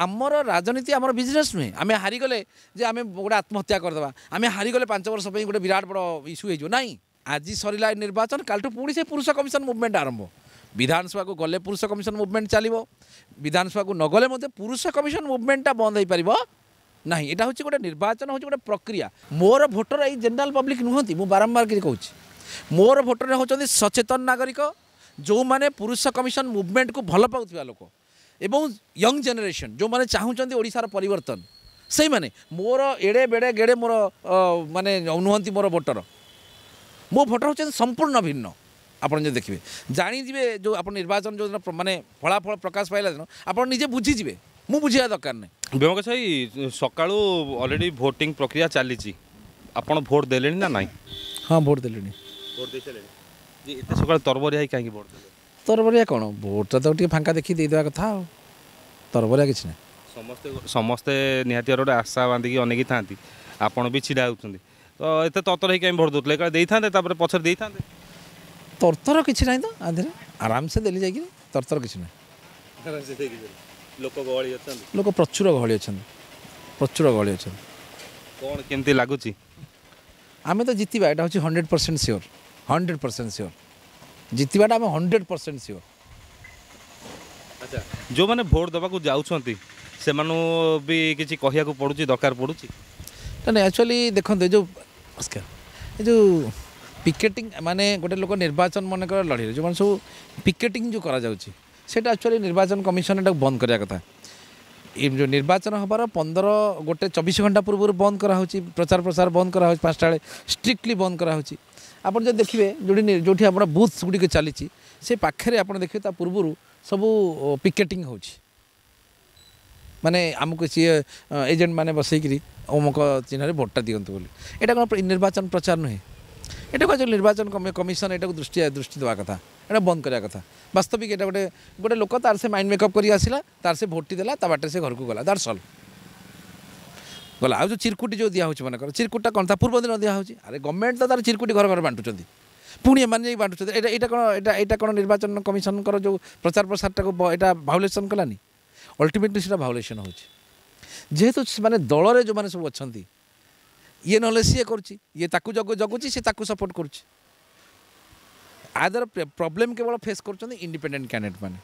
ଆମର ରାଜନୀତି ଆମର ବିଜନେସ୍ ନୁହେଁ। ଆମେ ହାରିଗଲେ ଯେ ଆମେ ଗୋଟେ ଆତ୍ମହତ୍ୟା କରିଦେବା, ଆମେ ହାରିଗଲେ 5 ବର୍ଷ ପାଇଁ ଗୋଟେ ବିରାଟ ବଡ଼ ଇସ୍ୟୁ ହେଇଯିବ, ନାଇଁ। ଆଜି ସରିଲା ଏ ନିର୍ବାଚନ, କାଲିଠୁ ପୁଣି ସେ ପୁରୁଷ କମିଶନ ମୁଭମେଣ୍ଟ ଆରମ୍ଭ। ବିଧାନସଭାକୁ ଗଲେ ପୁରୁଷ କମିଶନ ମୁଭମେଣ୍ଟ ଚାଲିବ, ବିଧାନସଭାକୁ ନଗଲେ ମଧ୍ୟ ପୁରୁଷ କମିଶନ ମୁଭମେଣ୍ଟଟା ବନ୍ଦ ହେଇପାରିବ ନାହିଁ। ଏଇଟା ହେଉଛି ଗୋଟେ ନିର୍ବାଚନ, ହେଉଛି ଗୋଟେ ପ୍ରକ୍ରିୟା। ମୋର ଭୋଟର ଏଇ ଜେନେରାଲ ପବ୍ଲିକ୍ ନୁହନ୍ତି, ମୁଁ ବାରମ୍ବାର କରି କହୁଛି, ମୋର ଭୋଟର ହେଉଛନ୍ତି ସଚେତନ ନାଗରିକ, ଯେଉଁମାନେ ପୁରୁଷ କମିଶନ ମୁଭମେଣ୍ଟକୁ ଭଲ ପାଉଥିବା ଲୋକ ଏବଂ ୟଙ୍ଗ ଜେନେରେସନ୍, ଯେଉଁମାନେ ଚାହୁଁଛନ୍ତି ଓଡ଼ିଶାର ପରିବର୍ତ୍ତନ, ସେଇମାନେ ମୋର ଏଡ଼େ ବେଡ଼େ ଗେଡ଼େ ମୋର ମାନେ ନୁହନ୍ତି ମୋର ଭୋଟର। ମୋ ଭୋଟର ହେଉଛନ୍ତି ସମ୍ପୂର୍ଣ୍ଣ ଭିନ୍ନ। ଆପଣ ଯଦି ଦେଖିବେ ଜାଣିଯିବେ, ଯେଉଁ ଆପଣ ନିର୍ବାଚନ ଯେଉଁଦିନ ମାନେ ଫଳାଫଳ ପ୍ରକାଶ ପାଇଲା ଦିନ ଆପଣ ନିଜେ ବୁଝିଯିବେ, ମୁଁ ବୁଝିବା ଦରକାର ନାହିଁ। ବ୍ୟୋମକେଶ ଭାଇ, ସକାଳୁ ଅଲରେଡ଼ି ଭୋଟିଂ ପ୍ରକ୍ରିୟା ଚାଲିଛି, ଆପଣ ଭୋଟ ଦେଲେଣି ନା ନାହିଁ? ହଁ, ଭୋଟ ଦେଲେଣି। ଭୋଟ ଦେଇସାରିଲେଣି? ଏତେ ସକାଳୁ ତରବରିଆ ହେଇ କାହିଁକି ଭୋଟ ଦେଲେ? ତରବରିଆ କ'ଣ, ଭୋଟଟା ତ ଟିକେ ଫାଙ୍କା ଦେଖି ଦେଇଦେବା କଥା, ଆଉ ତରବରିଆ କିଛି ନାହିଁ। ସମସ୍ତେ ନିହାତି ଗୋଟେ ଆଶା ବାନ୍ଧିକି ଅନେଇକି ଥାନ୍ତି, ଆପଣ ବି ଛିଡ଼ା ହେଉଛନ୍ତି, ତ ଏତେ ତରତର ହେଇକି କାହିଁ ଭୋଟ ଦେଉଥିଲେ? ଏକା ଦେଇଥାନ୍ତେ, ତାପରେ ପଛରେ ଦେଇଥାନ୍ତେ। ତରତର କିଛି ନାହିଁ ତ, ଆଧିରେ ଆରାମସେ ଦେଲି ଯାଇକିରି, ତରତର କିଛି ନାହିଁ। ଲୋକ ଗହଳି ଅଛନ୍ତି? ଲୋକ ପ୍ରଚୁର ଗହଳି ଅଛନ୍ତି, ପ୍ରଚୁର ଗହଳି ଅଛନ୍ତି। କ'ଣ କେମିତି ଲାଗୁଛି? ଆମେ ତ ଜିତିବା, ଏଇଟା ହେଉଛି 100% ସିଓର, 100% ସିଓର ଜିତିବାଟା, ଆମେ 100% ସିଓର। ଆଚ୍ଛା, ଯେଉଁମାନେ ଭୋଟ ଦେବାକୁ ଯାଉଛନ୍ତି ସେମାନଙ୍କୁ ବି କିଛି କହିବାକୁ ପଡ଼ୁଛି, ଦରକାର ପଡ଼ୁଛି? ନାଇଁ, ଆକ୍ଚୁଆଲି ଦେଖନ୍ତୁ, ଏ ଯେଉଁ ନମସ୍କାର, ଏ ଯେଉଁ ପିକେଟିଂ, ମାନେ ଗୋଟେ ଲୋକ ନିର୍ବାଚନ ମନେକର ଲଢ଼ିଲେ, ଯେଉଁମାନେ ସବୁ ପିକେଟିଂ ଯେଉଁ କରାଯାଉଛି, ସେଇଟା ଆକ୍ଚୁଆଲି ନିର୍ବାଚନ କମିଶନ ଏଟାକୁ ବନ୍ଦ କରିବା କଥା। ଏ ଯେଉଁ ନିର୍ବାଚନ ହେବାର 15 ଗୋଟେ 24 ଘଣ୍ଟା ପୂର୍ବରୁ ବନ୍ଦ କରାହେଉଛି, ପ୍ରଚାର ପ୍ରସାର ବନ୍ଦ କରାହେଉଛି, 5ଟା ବେଳେ ଷ୍ଟ୍ରିକ୍ଟଲି ବନ୍ଦ କରାହେଉଛି। ଆପଣ ଯଦି ଦେଖିବେ ଯେଉଁଠି ଆପଣ ବୁଥ୍ ଗୁଡ଼ିକ ଚାଲିଛି, ସେ ପାଖରେ ଆପଣ ଦେଖିବେ ତା ପୂର୍ବରୁ ସବୁ ପିକେଟିଂ ହେଉଛି, ମାନେ ଆମକୁ ସିଏ ଏଜେଣ୍ଟ ମାନେ ବସେଇକିରି ଅମୁକ ଚିହ୍ନରେ ଭୋଟଟା ଦିଅନ୍ତୁ ବୋଲି। ଏଇଟା କ'ଣ ନିର୍ବାଚନ ପ୍ରଚାର ନୁହେଁ? ଏଟାକୁ ଆକ୍ଚୁଆଲି ନିର୍ବାଚନ କମିଶନ ଏଟାକୁ ଦୃଷ୍ଟି ଦେବା କଥା, ଏଇଟା ବନ୍ଦ କରିବା କଥା। ବାସ୍ତବିକ ଏଇଟା ଗୋଟେ ଲୋକ ତାର ସେ ମାଇଣ୍ଡ ମେକଅପ୍ କରି ଆସିଲା, ତାର ସେ ଭୋଟଟି ଦେଲା, ତା ବାଟରେ ସେ ଘରକୁ ଗଲା, ତାର ସଲ୍ଭ ଗଲା। ଆଉ ଯେଉଁ ଚିରକୁଟି ଯେଉଁ ଦିଆହେଉଛି, ମନେକର ଚିରକୁଟଟା କ'ଣ ତା ପୂର୍ବ ଦିନ ଦିଆହେଉଛି? ଆରେ ଗଭର୍ଣ୍ଣମେଣ୍ଟ ତ ତାର ଚିରକୁଟି ଘର ଘର ବାଣ୍ଟୁଛନ୍ତି, ପୁଣି ଏମାନେ ଯାଇକି ବାଣ୍ଟୁଛନ୍ତି। ଏଇଟା କ'ଣ, ଏଇଟା କ'ଣ ନିର୍ବାଚନ କମିଶନଙ୍କର ଯେଉଁ ପ୍ରଚାର ପ୍ରସାରଟାକୁ ଏଇଟା ଭାଉଲେସନ୍ କଲାନି? ଅଲ୍ଟିମେଟଲି ସେଇଟା ଭାଉଲେସନ୍ ହେଉଛି। ଯେହେତୁ ସେମାନେ ଦଳରେ ଯେଉଁମାନେ ସବୁ ଅଛନ୍ତି, ଇଏ ନହେଲେ ସିଏ କରୁଛି, ଇଏ ତାକୁ ଜଗୁଛି, ସିଏ ତାକୁ ସପୋର୍ଟ କରୁଛି। ଆ ଦ୍ୱାରା ପ୍ରୋବ୍ଲେମ୍ କେବଳ ଫେସ୍ କରୁଛନ୍ତି ଇଣ୍ଡିପେଣ୍ଡେଣ୍ଟ କ୍ୟାଣ୍ଡିଡେଟ୍ ମାନେ।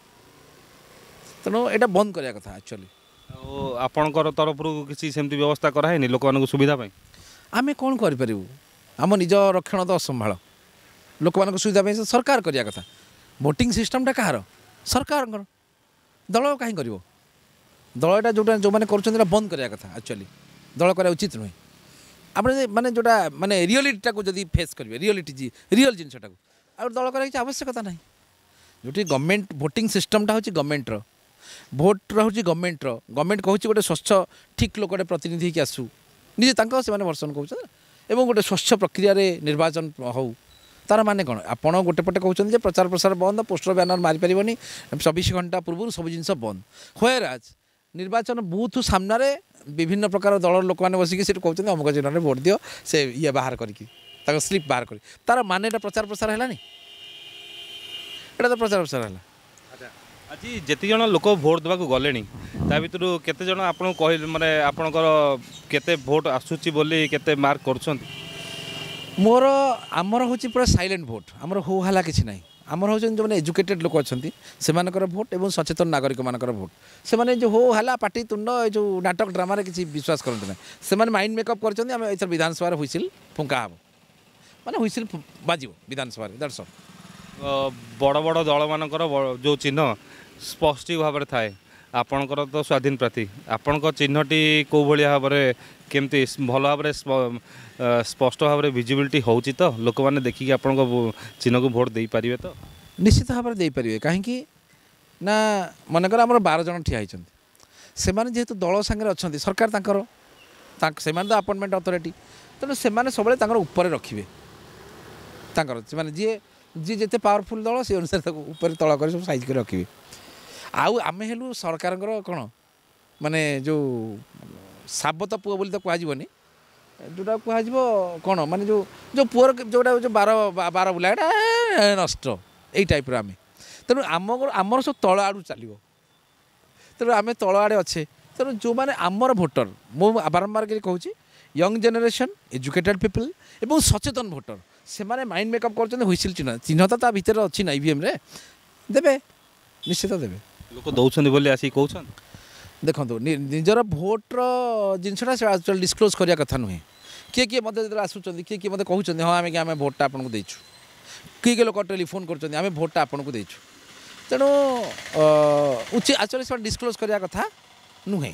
ତେଣୁ ଏଇଟା ବନ୍ଦ କରିବା କଥା ଆକ୍ଚୁଆଲି। ଆଉ ଆପଣଙ୍କର ତରଫରୁ କିଛି ସେମିତି ବ୍ୟବସ୍ଥା କରାହେଇନି ଲୋକମାନଙ୍କୁ ସୁବିଧା ପାଇଁ? ଆମେ କ'ଣ କରିପାରିବୁ? ଆମ ନିଜ ରକ୍ଷଣ ତ ଅସମ୍ଭାଳ, ଲୋକମାନଙ୍କ ସୁବିଧା ପାଇଁ ସରକାର କରିବା କଥା। ଭୋଟିଂ ସିଷ୍ଟମ୍ଟା କାହାର? ସରକାରଙ୍କର। ଦଳ କାହିଁ କରିବ? ଦଳ ଏଇଟା ଯେଉଁଟା ଯେଉଁମାନେ କରୁଛନ୍ତି ଏଇଟା ବନ୍ଦ କରିବା କଥା ଆକ୍ଚୁଆଲି। ଦଳ କରିବା ଉଚିତ ନୁହେଁ। ଆପଣ ଯଦି ମାନେ ଯେଉଁଟା ମାନେ ରିଅଲିଟିଟାକୁ ଯଦି ଫେସ୍ କରିବେ, ରିଅଲିଟି ରିଅଲ୍ ଜିନିଷଟାକୁ, ଆଉ ଦଳ କରିବା କିଛି ଆବଶ୍ୟକତା ନାହିଁ। ଯେଉଁଠି ଗଭର୍ଣ୍ଣମେଣ୍ଟ ଭୋଟିଂ ସିଷ୍ଟମ୍ଟା ହେଉଛି ଗଭର୍ଣ୍ଣମେଣ୍ଟର, ଭୋଟ ରହୁଛି ଗଭର୍ଣ୍ଣମେଣ୍ଟର, ଗଭର୍ଣ୍ଣମେଣ୍ଟ କହୁଛି ଗୋଟେ ସ୍ୱଚ୍ଛ ଠିକ୍ ଲୋକଟେ ପ୍ରତିନିଧି ହେଇକି ଆସୁ, ନିଜେ ତାଙ୍କ ସେମାନେ ଭର୍ସନ କହୁଛନ୍ତି, ଏବଂ ଗୋଟେ ସ୍ୱଚ୍ଛ ପ୍ରକ୍ରିୟାରେ ନିର୍ବାଚନ ହେଉ। ତାର ମାନେ କ'ଣ? ଆପଣ ଗୋଟେ ପଟେ କହୁଛନ୍ତି ଯେ ପ୍ରଚାର ପ୍ରସାର ବନ୍ଦ, ପୋଷ୍ଟର ବ୍ୟାନର ମାରିପାରିବନି, 24 ଘଣ୍ଟା ପୂର୍ବରୁ ସବୁ ଜିନିଷ ବନ୍ଦ। ହ୍ୱେରାଜ୍ ନିର୍ବାଚନ ବୁଥ୍ ସାମ୍ନାରେ ବିଭିନ୍ନ ପ୍ରକାର ଦଳର ଲୋକମାନେ ବସିକି ସେଠି କହୁଛନ୍ତି ଅମୁକ ଚିହ୍ନରେ ଭୋଟ ଦିଅ, ସେ ଇଏ ବାହାର କରିକି ତାଙ୍କ ସ୍ଲିପ୍ ବାହାର କରି, ତାର ମାନେ ଏଇଟା ପ୍ରଚାର ପ୍ରସାର ହେଲାନି? ଏଇଟା ତ ପ୍ରଚାର ପ୍ରସାର ହେଲା। ଆଜି ଯେତିକି ଜଣ ଲୋକ ଭୋଟ ଦେବାକୁ ଗଲେଣି ତା ଭିତରୁ କେତେ ଜଣ ଆପଣଙ୍କୁ କହିଲେ, ମାନେ ଆପଣଙ୍କର କେତେ ଭୋଟ ଆସୁଛି ବୋଲି କେତେ ମାର୍କ କରୁଛନ୍ତି? ଆମର ହେଉଛି ପୁରା ସାଇଲେଣ୍ଟ ଭୋଟ, ଆମର ହୋ ହାଲା କିଛି ନାହିଁ। ଆମର ହେଉଛନ୍ତି ଯେଉଁମାନେ ଏଜୁକେଟେଡ଼ ଲୋକ ଅଛନ୍ତି ସେମାନଙ୍କର ଭୋଟ ଏବଂ ସଚେତନ ନାଗରିକମାନଙ୍କର ଭୋଟ। ସେମାନେ ଯେଉଁ ହୋ ହାଲା ପାଟି ତୁଣ୍ଡ ଏ ଯେଉଁ ନାଟକ ଡ୍ରାମାରେ କିଛି ବିଶ୍ୱାସ କରନ୍ତି ନାହିଁ। ସେମାନେ ମାଇଣ୍ଡ ମେକଅପ୍ କରିଛନ୍ତି, ଆମେ ଏଥର ବିଧାନସଭାରେ ହୁଇସିଲ୍ ଫୁଙ୍କା ହେବ, ମାନେ ହୁଇସିଲ୍ ବାଜିବ ବିଧାନସଭାରେ, that's all. ବଡ଼ ବଡ଼ ଦଳମାନଙ୍କର ଯେଉଁ ଚିହ୍ନ ସ୍ପଷ୍ଟ ଭାବରେ ଥାଏ, ଆପଣଙ୍କର ତ ସ୍ୱାଧୀନ ପ୍ରାର୍ଥୀ, ଆପଣଙ୍କ ଚିହ୍ନଟି କେଉଁ ଭଳିଆ ଭାବରେ କେମିତି ଭଲ ଭାବରେ ସ୍ପଷ୍ଟ ଭାବରେ ଭିଜିବିଲିଟି ହେଉଛି ତ? ଲୋକମାନେ ଦେଖିକି ଆପଣଙ୍କ ଚିହ୍ନକୁ ଭୋଟ ଦେଇପାରିବେ ତ? ନିଶ୍ଚିତ ଭାବରେ ଦେଇପାରିବେ। କାହିଁକି ନା ମନେକର ଆମର 12 ଜଣ ଠିଆ ହେଇଛନ୍ତି, ସେମାନେ ଯେହେତୁ ଦଳ ସାଙ୍ଗରେ ଅଛନ୍ତି, ସରକାର ତାଙ୍କର, ସେମାନେ ତ ଆପଏଣ୍ଟମେଣ୍ଟ ଅଥରିଟି, ତେଣୁ ସେମାନେ ସବୁବେଳେ ତାଙ୍କର ଉପରେ ରଖିବେ ତାଙ୍କର, ସେମାନେ ଯିଏ ଯେତେ ପାୱାରଫୁଲ୍ ଦଳ ସେ ଅନୁସାରେ ତାକୁ ଉପରେ ତଳ କରି ସବୁ ସାଇଜ୍ କରି ରଖିବେ। ଆଉ ଆମେ ହେଲୁ ସରକାରଙ୍କର କ'ଣ ମାନେ ଯେଉଁ ସାବତ ପୁଅ ବୋଲି ତ କୁହାଯିବନି, ଯେଉଁଟା କୁହାଯିବ କ'ଣ ମାନେ ଯେଉଁ ଯେଉଁ ପୁଅର ଯେଉଁଟା ଯେଉଁ ବାର ବୁଲା ଏଇଟା ନଷ୍ଟ, ଏଇ ଟାଇପ୍ର ଆମେ। ତେଣୁ ଆମର ସବୁ ତଳ ଆଡ଼ୁ ଚାଲିବ, ତେଣୁ ଆମେ ତଳ ଆଡ଼େ ଅଛେ, ତେଣୁ ଯେଉଁମାନେ ଆମର ଭୋଟର, ମୁଁ ବାରମ୍ବାର କରି କହୁଛି, ୟଙ୍ଗ ଜେନେରେସନ୍, ଏଜୁକେଟେଡ୍ ପିପଲ୍ ଏବଂ ସଚେତନ ଭୋଟର, ସେମାନେ ମାଇଣ୍ଡ ମେକଅପ୍ କରୁଛନ୍ତି। ହୁଇସିଲ୍ ଚିହ୍ନ, ଚିହ୍ନ ତ ତା ଭିତରେ ଅଛି ନା, ଇଭିଏମ୍ରେ ଦେବେ, ନିଶ୍ଚିତ ଦେବେ। ଲୋକ ଦେଉଛନ୍ତି ବୋଲି ଆସିକି କହୁଛନ୍ତି। ଦେଖନ୍ତୁ, ନିଜର ଭୋଟ୍ର ଜିନିଷଟା ସେ ଆକ୍ଚୁଆଲି ଡିସକ୍ଲୋଜ୍ କରିବା କଥା ନୁହେଁ। କିଏ କିଏ ମୋତେ ଯେତେବେଳେ ଆସୁଛନ୍ତି, କିଏ କିଏ ମୋତେ କହୁଛନ୍ତି, ହଁ, ଆମେ ଭୋଟ୍ଟା ଆପଣଙ୍କୁ ଦେଇଛୁ। କିଏ କିଏ ଲୋକ ଟେଲିଫୋନ୍ କରୁଛନ୍ତି, ଆମେ ଭୋଟ୍ଟା ଆପଣଙ୍କୁ ଦେଇଛୁ। ତେଣୁ ଉଚିତ ଆକ୍ଚୁଆଲି ସେମାନେ ଡିସକ୍ଲୋଜ୍ କରିବା କଥା ନୁହେଁ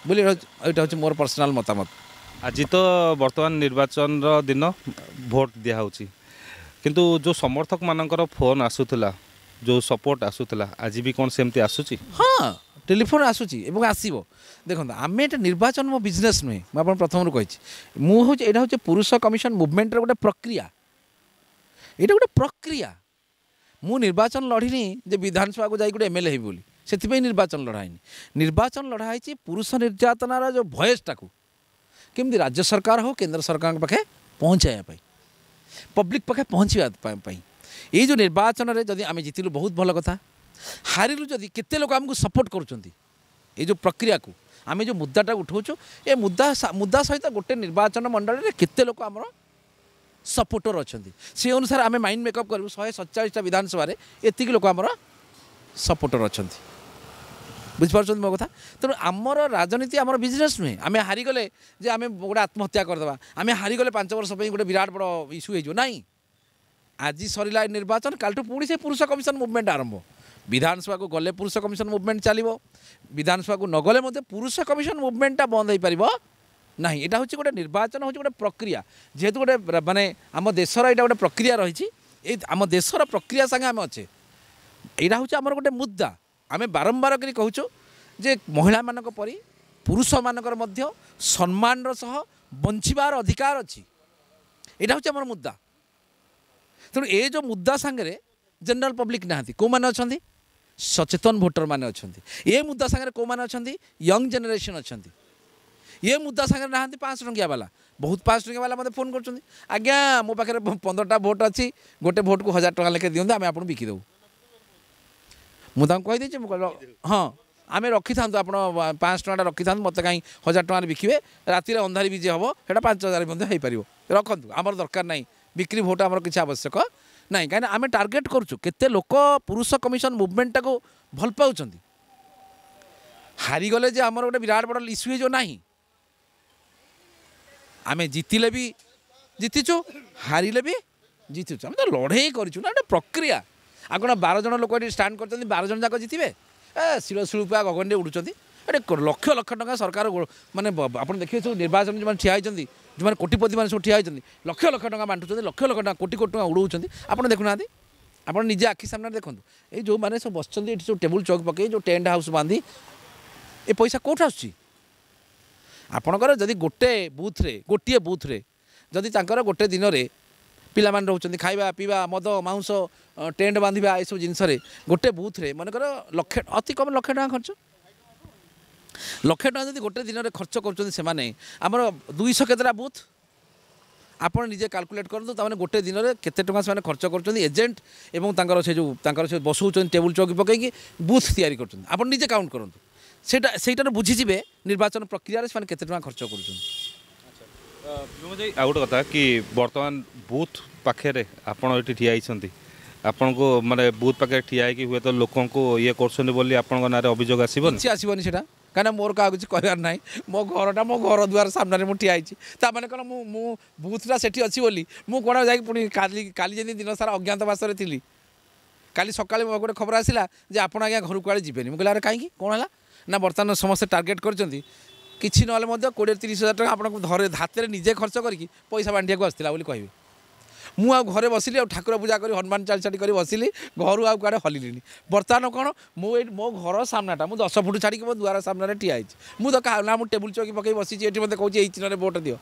ବୋଲି ଏଇଟା ହେଉଛି ମୋର ପର୍ସନାଲ୍ ମତାମତ। ଆଜି ତ ବର୍ତ୍ତମାନ ନିର୍ବାଚନର ଦିନ, ଭୋଟ ଦିଆହେଉଛି, କିନ୍ତୁ ଯେଉଁ ସମର୍ଥକମାନଙ୍କର ଫୋନ୍ ଆସୁଥିଲା, ଯେଉଁ ସପୋର୍ଟ ଆସୁଥିଲା, ଆଜି ବି କ'ଣ ସେମିତି ଆସୁଛି? ହଁ, ଟେଲିଫୋନ୍ ଆସୁଛି ଏବଂ ଆସିବ। ଦେଖନ୍ତୁ, ଆମେ ଏଇଟା ନିର୍ବାଚନ ମୋ ବିଜନେସ୍ ନୁହେଁ। ମୁଁ ଆପଣ ପ୍ରଥମରୁ କହିଛି, ମୁଁ ହେଉଛି, ଏଇଟା ହେଉଛି ପୁରୁଷ କମିଶନ ମୁଭମେଣ୍ଟର ଗୋଟେ ପ୍ରକ୍ରିୟା। ଏଇଟା ଗୋଟେ ପ୍ରକ୍ରିୟା। ମୁଁ ନିର୍ବାଚନ ଲଢ଼ିନି ଯେ ବିଧାନସଭାକୁ ଯାଇ ଗୋଟେ ଏମ୍ ଏଲ୍ ଏ ହେବି ବୋଲି, ସେଥିପାଇଁ ନିର୍ବାଚନ ଲଢ଼ା ହେଇନି। ନିର୍ବାଚନ ଲଢ଼ା ହେଇଛି ପୁରୁଷ ନିର୍ଯାତନାର ଯେଉଁ ଭଏସ୍ଟାକୁ କେମିତି ରାଜ୍ୟ ସରକାର ହଉ, କେନ୍ଦ୍ର ସରକାରଙ୍କ ପାଖେ ପହଞ୍ଚାଇବା ପାଇଁ, ପବ୍ଲିକ୍ ପାଖେ ପହଞ୍ଚିବା ପାଇଁ। ଏଇ ଯେଉଁ ନିର୍ବାଚନରେ ଯଦି ଆମେ ଜିତିଲୁ, ବହୁତ ଭଲ କଥା। ହାରିଲୁ ଯଦି, କେତେ ଲୋକ ଆମକୁ ସପୋର୍ଟ କରୁଛନ୍ତି। ଏଇ ଯେଉଁ ପ୍ରକ୍ରିୟାକୁ ଆମେ ଯେଉଁ ମୁଦ୍ଦାଟା ଉଠାଉଛୁ, ଏ ମୁଦ୍ଦା ସହିତ ଗୋଟେ ନିର୍ବାଚନ ମଣ୍ଡଳୀରେ କେତେ ଲୋକ ଆମର ସପୋର୍ଟର ଅଛନ୍ତି, ସେ ଅନୁସାରେ ଆମେ ମାଇଣ୍ଡ ମେକଅପ୍ କରିବୁ। 147ଟା ବିଧାନସଭାରେ ଏତିକି ଲୋକ ଆମର ସପୋର୍ଟର ଅଛନ୍ତି। ବୁଝିପାରୁଛନ୍ତି ମୋ କଥା? ତେଣୁ ଆମର ରାଜନୀତି ଆମର ବିଜନେସ୍ ନୁହେଁ। ଆମେ ହାରିଗଲେ ଯେ ଆମେ ଗୋଟେ ଆତ୍ମହତ୍ୟା କରିଦେବା, ଆମେ ହାରିଗଲେ 5 ବର୍ଷ ପାଇଁ ଗୋଟେ ବିରାଟ ବଡ଼ ଇସ୍ୟୁ ହେଇଯିବ, ନାହିଁ। ଆଜି ସରିଲା ଏ ନିର୍ବାଚନ, କାଲିଠୁ ପୁଣି ସେ ପୁରୁଷ କମିଶନ ମୁଭମେଣ୍ଟ ଆରମ୍ଭ। ବିଧାନସଭାକୁ ଗଲେ ପୁରୁଷ କମିଶନ ମୁଭମେଣ୍ଟ ଚାଲିବ, ବିଧାନସଭାକୁ ନଗଲେ ମଧ୍ୟ ପୁରୁଷ କମିଶନ ମୁଭମେଣ୍ଟଟା ବନ୍ଦ ହେଇପାରିବ ନାହିଁ। ଏଇଟା ହେଉଛି ଗୋଟେ ନିର୍ବାଚନ, ହେଉଛି ଗୋଟେ ପ୍ରକ୍ରିୟା। ଯେହେତୁ ଗୋଟେ ମାନେ ଆମ ଦେଶର ଏଇଟା ଗୋଟେ ପ୍ରକ୍ରିୟା ରହିଛି, ଏଇ ଆମ ଦେଶର ପ୍ରକ୍ରିୟା ସାଙ୍ଗେ ଆମେ ଅଛେ। ଏଇଟା ହେଉଛି ଆମର ଗୋଟେ ମୁଦ୍ଦା। ଆମେ ବାରମ୍ବାର କରି କହୁଛୁ ଯେ ମହିଳାମାନଙ୍କ ପରି ପୁରୁଷମାନଙ୍କର ମଧ୍ୟ ସମ୍ମାନର ସହ ବଞ୍ଚିବାର ଅଧିକାର ଅଛି। ଏଇଟା ହେଉଛି ଆମର ମୁଦ୍ଦା। ତେଣୁ ଏ ଯେଉଁ ମୁଦ୍ଦା ସାଙ୍ଗରେ ଜେନେରାଲ ପବ୍ଲିକ୍ ନାହାନ୍ତି। କେଉଁମାନେ ଅଛନ୍ତି? ସଚେତନ ଭୋଟରମାନେ ଅଛନ୍ତି। ଏ ମୁଦ୍ଦା ସାଙ୍ଗରେ କେଉଁମାନେ ଅଛନ୍ତି? ୟଙ୍ଗ ଜେନେରେସନ୍ ଅଛନ୍ତି। ଏ ମୁଦ୍ଦା ସାଙ୍ଗରେ ନାହାନ୍ତି 500 ଟଙ୍କିଆ ବାଲା। ବହୁତ 500 ଟଙ୍କିଆ ବାଲା ମୋତେ ଫୋନ୍ କରୁଛନ୍ତି, ଆଜ୍ଞା ମୋ ପାଖରେ 15ଟା ଭୋଟ୍ ଅଛି, ଗୋଟେ ଭୋଟ୍କୁ 1000 ଟଙ୍କା ଲେଖାଏଁ ଦିଅନ୍ତୁ, ଆମେ ଆପଣଙ୍କୁ ବିକିଦେବୁ। ମୁଁ ତାଙ୍କୁ କହିଦେଇଛି, ମୁଁ କହିଲି ହଁ, ଆମେ ରଖିଥାନ୍ତୁ, ଆପଣ 500 ଟଙ୍କାଟା ରଖିଥାନ୍ତୁ, ମୋତେ କାହିଁ 1000 ଟଙ୍କାରେ ବିକିବେ? ରାତିରେ ଅନ୍ଧାରି ବିଜେ ହେବ, ସେଇଟା 5000 ମଧ୍ୟ ହେଇପାରିବ, ରଖନ୍ତୁ, ଆମର ଦରକାର ନାହିଁ ବିକ୍ରି ଭୋଟ୍, ଆମର କିଛି ଆବଶ୍ୟକ ନାହିଁ। କାହିଁକିନା ଆମେ ଟାର୍ଗେଟ୍ କରୁଛୁ କେତେ ଲୋକ ପୁରୁଷ କମିଶନ ମୁଭମେଣ୍ଟଟାକୁ ଭଲ ପାଉଛନ୍ତି। ହାରିଗଲେ ଯେ ଆମର ଗୋଟେ ବିରାଟ ବଡ଼ ଇସ୍ୟୁ ହେଇଯିବ, ନାହିଁ। ଆମେ ଜିତିଲେ ବି ଜିତିଛୁ, ହାରିଲେ ବି ଜିତିଛୁ, ଆମେ ତ ଲଢ଼େଇ କରିଛୁ ନା, ଗୋଟେ ପ୍ରକ୍ରିୟା। ଆଉ କ'ଣ 12 ଜଣ ଲୋକ ଏଠି ଷ୍ଟାଣ୍ଡ କରିଛନ୍ତି, 12 ଜଣ ଯାକ ଜିତିବେ? ଏ ଶିଳ ଶିଳୁପା ଗଗନରେ ଉଡ଼ୁଛନ୍ତି ଏଠି। ଲକ୍ଷ ଲକ୍ଷ ଟଙ୍କା ସରକାର, ମାନେ ଆପଣ ଦେଖିବେ ସବୁ ନିର୍ବାଚନ ଯେଉଁମାନେ ଠିଆ ହେଇଛନ୍ତି, ଯେଉଁମାନେ କୋଟିପତିମାନେ ସବୁ ଠିଆ ହେଇଛନ୍ତି, ଲକ୍ଷ ଲକ୍ଷ ଟଙ୍କା ବାଣ୍ଟୁଛନ୍ତି, ଲକ୍ଷ ଲକ୍ଷ ଟଙ୍କା, କୋଟି କୋଟି ଟଙ୍କା ଉଡ଼ଉଛନ୍ତି। ଆପଣ ଦେଖୁନାହାନ୍ତି? ଆପଣ ନିଜେ ଆଖି ସାମ୍ନାରେ ଦେଖନ୍ତୁ। ଏଇ ଯେଉଁମାନେ ସବୁ ବସିଛନ୍ତି ଏଠି, ସବୁ ଟେବୁଲ୍ ଚୌକି ପକେଇ, ଯେଉଁ ଟେଣ୍ଟ ହାଉସ୍ ବାନ୍ଧି, ଏ ପଇସା କେଉଁଠୁ ଆସୁଛି? ଆପଣଙ୍କର ଯଦି ଗୋଟେ ବୁଥରେ, ଗୋଟିଏ ବୁଥରେ ଯଦି ତାଙ୍କର ଗୋଟେ ଦିନରେ ପିଲାମାନେ ରହୁଛନ୍ତି, ଖାଇବା ପିଇବା, ମଦ ମାଉଁସ, ଟେଣ୍ଟ ବାନ୍ଧିବା, ଏସବୁ ଜିନିଷରେ ଗୋଟେ ବୁଥରେ ମନେକର ଲକ୍ଷେ, ଅତି କମ୍ ଲକ୍ଷେ ଟଙ୍କା ଖର୍ଚ୍ଚ। ଲକ୍ଷେ ଟଙ୍କା ଯଦି ଗୋଟେ ଦିନରେ ଖର୍ଚ୍ଚ କରୁଛନ୍ତି ସେମାନେ, ଆମର 200 କେତେଟା ବୁଥ୍, ଆପଣ ନିଜେ କାଲକୁଲେଟ୍ କରନ୍ତୁ, ତାମାନେ ଗୋଟେ ଦିନରେ କେତେ ଟଙ୍କା ସେମାନେ ଖର୍ଚ୍ଚ କରୁଛନ୍ତି। ଏଜେଣ୍ଟ ଏବଂ ତାଙ୍କର ସେ ଯେଉଁ ତାଙ୍କର ସେ ବସଉଛନ୍ତି ଟେବୁଲ୍ ଚୌକି ପକାଇକି ବୁଥ୍ ତିଆରି କରୁଛନ୍ତି, ଆପଣ ନିଜେ କାଉଣ୍ଟ କରନ୍ତୁ। ସେଇଟାରୁ ବୁଝିଯିବେ ନିର୍ବାଚନ ପ୍ରକ୍ରିୟାରେ ସେମାନେ କେତେ ଟଙ୍କା ଖର୍ଚ୍ଚ କରୁଛନ୍ତି। ଆଉ ଗୋଟେ କଥା କି ବର୍ତ୍ତମାନ ବୁଥ୍ ପାଖରେ ଆପଣ ଏଠି ଠିଆ ହେଇଛନ୍ତି, ଆପଣଙ୍କୁ ମାନେ ବୁଥ୍ ପାଖରେ ଠିଆ ହେଇକି ହୁଏତ ଲୋକଙ୍କୁ ଇଏ କରୁଛନ୍ତି ବୋଲି ଆପଣଙ୍କ ନାଁରେ ଅଭିଯୋଗ ଆସିବନି? କିଛି ଆସିବନି ସେଇଟା, କାହିଁକିନା ମୋର କାହାକୁ କିଛି କହିବାର ନାହିଁ। ମୋ ଘରଟା ମୋ ଘର ଦୁଆର ସାମ୍ନାରେ ମୁଁ ଠିଆ ହେଇଛି। ତା ମାନେ କ'ଣ ମୁଁ ବୁଥ୍ଟା ସେଠି ଅଛି ବୋଲି ମୁଁ କ'ଣ ଯାଇକି ପୁଣି କାଲି ଯେମିତି ଦିନ ସାରା ଅଜ୍ଞାତବାସରେ ଥିଲି, କାଲି ସକାଳେ ମୋ ଗୋଟେ ଖବର ଆସିଲା ଯେ ଆପଣ ଆଜ୍ଞା ଘରକୁ କୁଆଡ଼େ ଯିବେନି। ମୁଁ କହିଲି ଆରେ କାହିଁକି, କ'ଣ ହେଲା? ନା ବର୍ତ୍ତମାନ ସମସ୍ତେ ଟାର୍ଗେଟ୍ କରିଛନ୍ତି, କିଛି ନହେଲେ ମଧ୍ୟ 20-30 ହଜାର ଟଙ୍କା ଆପଣଙ୍କୁ ଧରେ ହାତରେ ନିଜେ ଖର୍ଚ୍ଚ କରିକି ପଇସା ବାଣ୍ଟିବାକୁ ଆସିଥିଲା ବୋଲି କହିବେ। ମୁଁ ଆଉ ଘରେ ବସିଲି, ଆଉ ଠାକୁର ପୂଜା କରି ହନୁମାନ ଚାଳିଶାଟି କରି ବସିଲି, ଘରୁ ଆଉ କୁଆଡ଼େ ହଲିଲିନି। ବର୍ତ୍ତମାନ କ'ଣ ମୁଁ ଏଇଠି ମୋ ଘର ସାମ୍ନାଟା ମୁଁ 10 ଫୁଟ ଛାଡ଼ିକି ମୋ ଦୁଆର ସାମ୍ନାରେ ଠିଆ ହେଇଛି। ମୁଁ ତ କାହା ନା ମୁଁ ଟେବୁଲ୍ ଚୌକି ପକାଇ ବସିଛି ଏଠି, ମୋତେ କହୁଛି ଏଇ ଚିହ୍ନରେ ଭୋଟ ଦିଅ।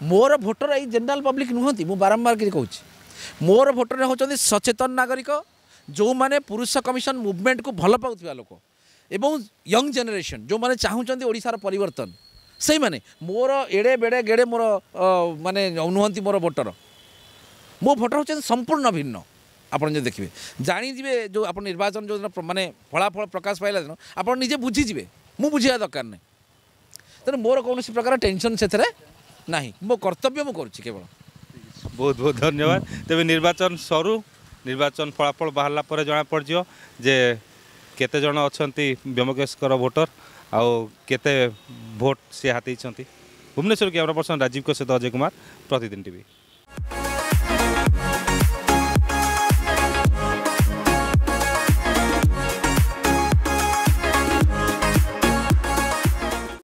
ମୋର ଭୋଟର ଏଇ ଜେନେରାଲ ପବ୍ଲିକ୍ ନୁହନ୍ତି, ମୁଁ ବାରମ୍ବାର କରି କହୁଛି, ମୋର ଭୋଟର ହେଉଛନ୍ତି ସଚେତନ ନାଗରିକ, ଯେଉଁମାନେ ପୁରୁଷ କମିଶନ ମୁଭମେଣ୍ଟକୁ ଭଲ ପାଉଥିବା ଲୋକ ଏବଂ ୟଙ୍ଗ ଜେନେରେସନ୍, ଯେଉଁମାନେ ଚାହୁଁଛନ୍ତି ଓଡ଼ିଶାର ପରିବର୍ତ୍ତନ, ସେଇମାନେ ମୋର ଏଡ଼େ ବେଡ଼େ ଗେଡ଼େ ମୋର ମାନେ ନୁହନ୍ତି ମୋର ଭୋଟର। ମୋ ଭୋଟର ହେଉଛନ୍ତି ସମ୍ପୂର୍ଣ୍ଣ ଭିନ୍ନ। ଆପଣ ଯଦି ଦେଖିବେ ଜାଣିଯିବେ, ଯେଉଁ ଆପଣ ନିର୍ବାଚନ ଯେଉଁଦିନ ମାନେ ଫଳାଫଳ ପ୍ରକାଶ ପାଇଲା ଦିନ ଆପଣ ନିଜେ ବୁଝିଯିବେ, ମୁଁ ବୁଝିବା ଦରକାର ନାହିଁ। ତେଣୁ ମୋର କୌଣସି ପ୍ରକାର ଟେନସନ୍ ସେଥିରେ ନାହିଁ, ମୋ କର୍ତ୍ତବ୍ୟ ମୁଁ କରୁଛି କେବଳ। ବହୁତ ବହୁତ ଧନ୍ୟବାଦ। ତେବେ ନିର୍ବାଚନ ସରୁ, ନିର୍ବାଚନ ଫଳାଫଳ ବାହାରିଲା ପରେ ଜଣାପଡ଼ିଯିବ ଯେ କେତେ ଜଣ ଅଛନ୍ତି ବ୍ୟୋମକେଶଙ୍କର ଭୋଟର ଆଉ କେତେ ଭୋଟ ସେ ହାତେଇଛନ୍ତି। ଭୁବନେଶ୍ୱର କ୍ୟାମେରା ପର୍ସନ ରାଜୀବଙ୍କ ସହିତ ଅଜୟ କୁମାର, ପ୍ରତିଦିନ ଟିଭି।